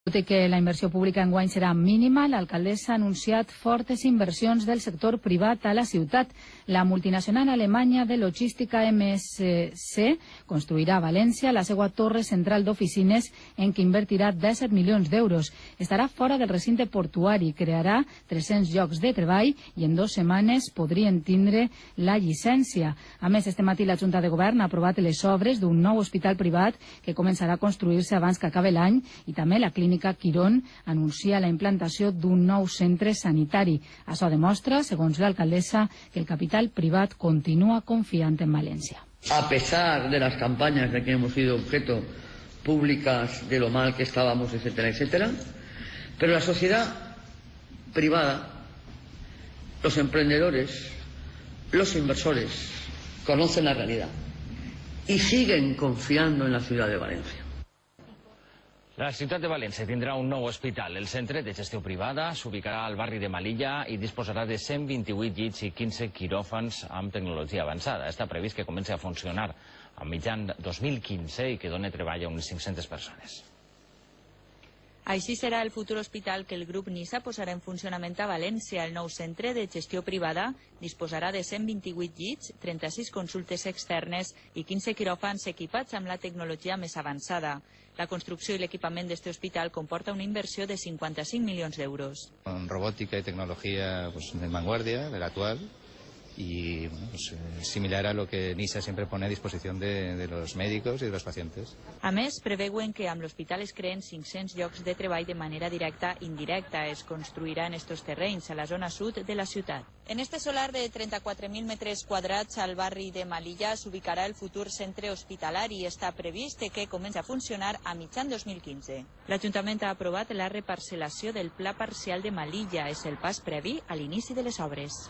Tot i que la inversió pública enguany serà mínima, l'alcaldessa ha anunciat fortes inversions del sector privat a la ciutat. La multinacional alemanya de logística MSC construirà a València la seva torre central d'oficines en què invertirà 17 milions d'euros. Estarà fora del recinte portuari, crearà 300 llocs de treball i en 2 setmanes podrien tindre la llicència. A més, este matí la Junta de Govern ha aprovat les obres d'un nou hospital privat que començarà a construir-se abans que acabi l'any i també la clínica Quirón anuncia la implantació d'un nou centre sanitari. Això demostra, segons l'alcaldessa, que el capital privat continúa confiant en València. A pesar de las campañas de que hemos sido objeto públicas de lo mal que estábamos, etcétera, etcétera, pero la sociedad privada, los emprendedores, los inversores conocen la realidad y siguen confiando en la ciudad de Valencia. La ciutat de València tindrà un nou hospital. El centre de gestió privada s'ubicarà al barri de Melilla i disposarà de 128 llits i 15 quiròfans amb tecnologia avançada. Està previst que comenci a funcionar a mitjan 2015 i que doni treball a unes 500 persones. Així serà el futur hospital que el grup NISA posarà en funcionament a València. El nou centre de gestió privada disposarà de 128 llits, 36 consultes externes i 15 quiròfans equipats amb la tecnologia més avançada. La construcció i l'equipament d'este hospital comporta una inversió de 55 milions d'euros. Con robótica y tecnología de vanguardia, de la actual, y similar a lo que NISA siempre pone a disposición de los médicos y de los pacientes. A més, preveuen que amb l'hospital es creen 500 llocs de treball de manera directa i indirecta. Es construiran estos terrenys a la zona sud de la ciutat. En este solar de 34.000 metres quadrats al barri de Melilla s'ubicarà el futur centre hospitalari i està previst que comenci a funcionar a mitjan 2015. L'Ajuntament ha aprovat la reparcel·lació del Pla Parcial de Melilla. És el pas previ a l'inici de les obres.